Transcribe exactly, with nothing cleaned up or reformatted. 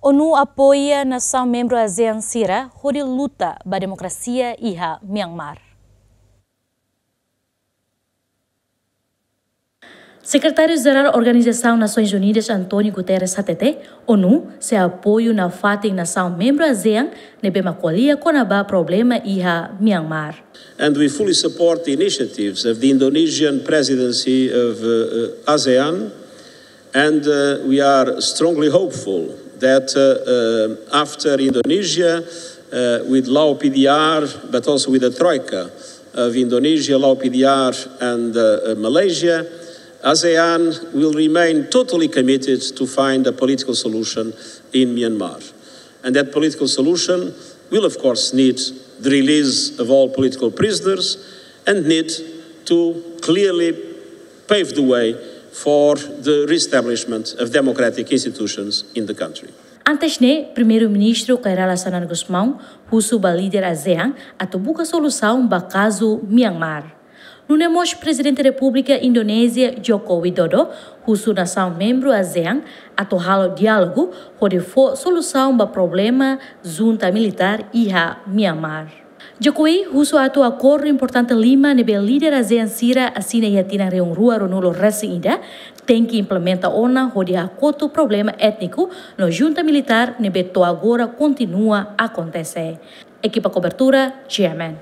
ONU apoia nasaun membru ASEAN sira hodi luta ba demokrasia iha Myanmar. Sekretáriu Jerál Organizasaun Nasoins Unidas António Guterres hatete, ONU sei apoiu nafatin nasaun membru ASEAN ne'ebé mak ko'alia kona-ba problema iha Myanmar. And we fully support the initiatives of the Indonesian presidency of uh, uh, ASEAN, and uh, we are strongly hopeful that uh, uh, after Indonesia, uh, with Lao P D R, but also with the Troika of Indonesia, Lao P D R, and uh, uh, Malaysia, ASEAN will remain totally committed to find a political solution in Myanmar. And that political solution will, of course, need the release of all political prisoners and need to clearly pave the way for the reestablishment of democratic institutions in the country. Antes ne'e, Primeiru-Ministru Kay Rala Xanana Gusmão husu ba líder ASEAN atu buka solusaun ba kazu Myanmar. Nune'e mós Prezidente Repúblika Indonézia Joko Widodo husu nasaun membru ASEAN atu halo diálogu hodi fó solusaun ba problema junta militár iha Myanmar. Jokowi husu atu akordu importante lima ne'ebé líder ASEAN sira asina iha tinan rihun rua ruanulu resin ida tenke implementa ona hodi hakotu problema étniku no junta militár ne'ebé to'o agora kontinua akontese. Ekipa kobertura, G M N.